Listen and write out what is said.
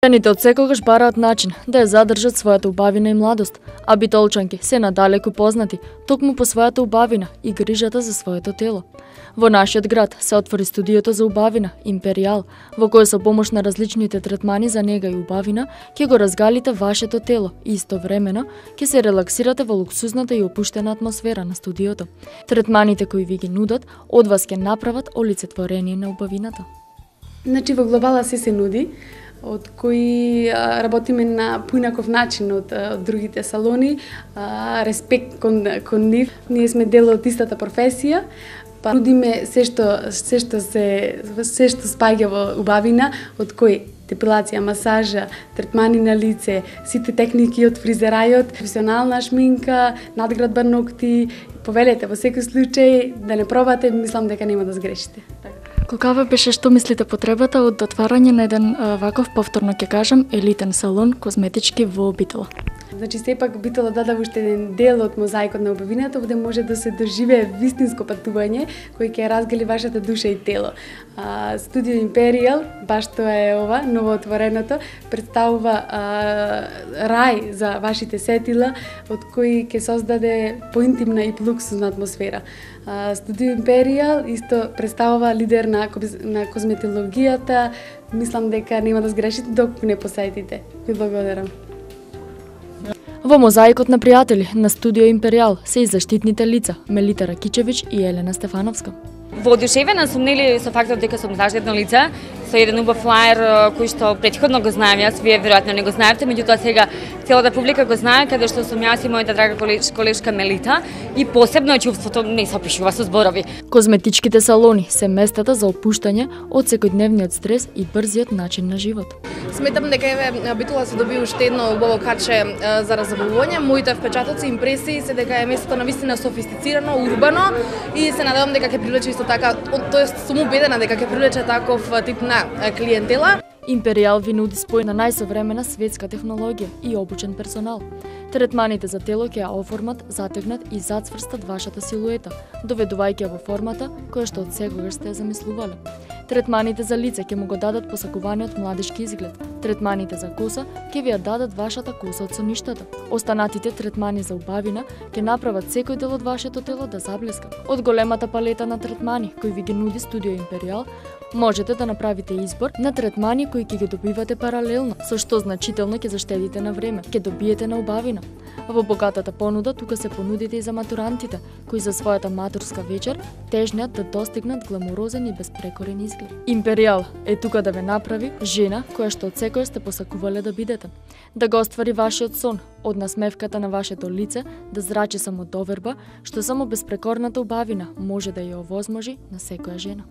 Жените од секогаш бараат начин да ја задржат својата убавина и младост, а битолчанки се надалеку познати токму по својата убавина и грижата за своето тело. Во нашиот град се отвори студиото за убавина Империјал, во кој со помош на различните третмани за нега и убавина ќе го разгалите вашето тело и истовремено ќе се релаксирате во луксузната и опуштена атмосфера на студиото. Третманите кои ви ги нудат од вас ќе направат олицетворение на убавината. Значи во глобала се нуди, од кои работиме на поинаков начин од другите салони, респект кон нив. Ние сме дел од истата професија, па нудиме се што спаѓа во убавина, од кои депилација, масажа, третмани на лице, сите техники од фризерајот, професионална шминка, надградба ногти. Повелете во секој случај да не пробате, мислам дека нема да сгрешите. Каква беше, што мислите, потребата од отварање на еден ваков, повторно ќе кажам, елитен салон козметички во Битола? Значи, сепак Битола дадава уште еден дел од мозаикот на убавината, овде може да се доживее вистинско патување, кој ќе разгали вашата душа и тело. Студио Империјал, баш тоа е ова, новоотвореното, представува рај за вашите сетила, од кој ќе создаде поинтимна и луксузна атмосфера. Студио Империјал исто представува лидер на козметологијата. Мислам дека нема да сгрешите доколку не посетите. Ви благодарам. Во мозаикот на пријатели на Студио Империјал се и заштитните лица Мелита Ракичевиќ и Елена Стефановска. Воодушевена сум со фактот дека сум заштитно лице, со еден убав флаер кој што претходно го знаем јас, вие веројатно не го знаевте, меѓутоа сега целата публика го знае, каде што сум јас и мојата драга колешка Мелита, и посебно чувството не се опишува со зборови. Козметичките салони се местата за опуштање од секојдневниот стрес и брзиот начин на живот. Сметам дека Битола се доби уште едно убаво каче за разобавување. Моите впечатоци и импресии се дека е местото навистина софистицирано, урбано, и се надевам дека ќе привлече исто така, тоест сум убедена дека ќе привлече таков тип на клиентела. Империјал ви нуди спој на најсовремена светска технологија и обучен персонал. Третманите за тело ќе ја оформат, затегнат и зацврстат вашата силуета, доведувајќи ја во формата која што од секогаш сте ја замислувале. Третманите за лице ќе му го дадат посакуваниот младишки изглед. Третманите за коса ќе ви ја дадат вашата коса од соништата. Останатите третмани за убавина ќе направат секој дел од вашето тело да заблеска. Од големата палета на третмани кои ви ги нуди Студио Империјал, можете да направите избор на третмани кои ќе ги добивате паралелно, со што значително ќе заштедите на време, ќе добиете на убавина. Во богатата понуда тука се понудите и за матурантите, кои за својата матурска вечер тежнеат да достигнат гламурозен и безпрекорен изглед. Империјал е тука да ве направи жена која што од секој сте посакувале да бидете. Да го оствари вашиот сон, од насмевката на вашето лице да зрачи само доверба, што само безпрекорната убавина може да ја овозможи на секоја жена.